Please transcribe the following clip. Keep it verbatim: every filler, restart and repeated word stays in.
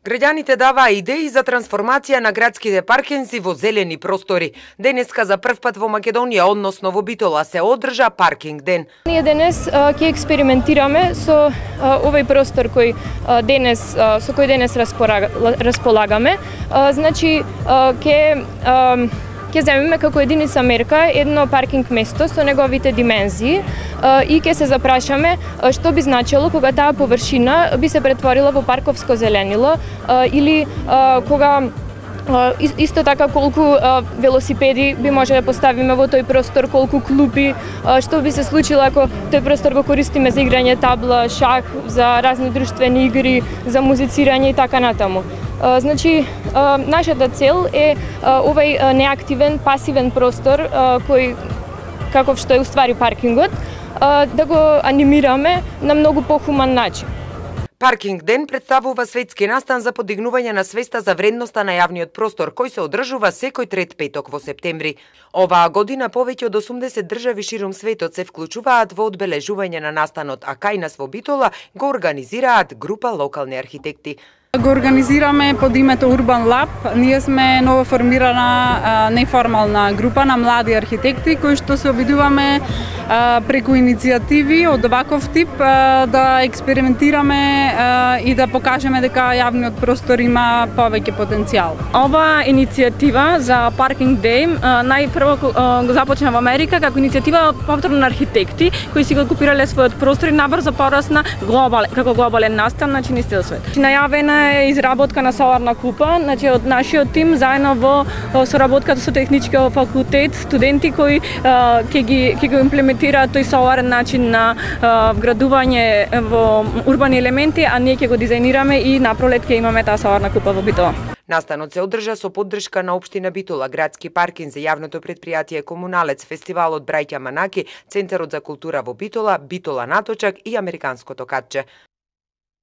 Граѓаните даваа идеи за трансформација на градските паркинзи во зелени простори. Денеска за прв пат во Македонија, односно во Битола, се одржа паркинг ден. Ние денес ќе експериментираме со а, овој простор кој а, денес а, со кој денес располагаме. А, значи ќе ќе земеме како единица мерка едно паркинг место со неговите димензии и ќе се запрашаме што би значило кога таа површина би се претворила во парковско зеленило или кога исто така колку велосипеди би може да поставиме во тој простор, колку клупи, што би се случило ако тој простор го користиме за играње табла, шах, за разни друштвени игри, за музицирање и така натаму. Значи, нашата цел е овој неактивен, пасивен простор, кој, каков што е уствари паркингот, да го анимираме на многу похуман начин. Паркинг ден представува светски настан за подигнување на свеста за вредноста на јавниот простор, кој се одржува секој трет петок во септември. Оваа година повеќе од осумдесет држави ширум светот се вклучуваат во одбележување на настанот, а кај нас во Битола го организираат група локални архитекти. Го организираме под името Urban Lab. Ние сме новоформирана неформална група на млади архитекти кои што се обидуваме преку иницијативи од оваков тип да експериментираме и да покажеме дека јавниот простор има повеќе потенцијал. Ова иницијатива за Parking Day најпрво го започна во Америка како иницијатива повторно на архитекти кои си го окупирале својот простор и набрзо порасна глобал како глобален настан на цел свет. Најавена е изработка на соларна купа, значи од нашиот тим заедно во соработката со техничкиот факултет, студенти кои ќе ги ќе го имплементираат тој соларен начин на вградување во урбани елементи, а ние ќе го дизајнираме и напролет ќе имаме таа соларна купа во Битола. Настанот се одржа со поддршка на општина Битола, градски паркинзи, јавното претпријатие Комуналец, фестивалот Браќа Манаки, Центарот за култура во Битола, Битола Наточак и Американското катче.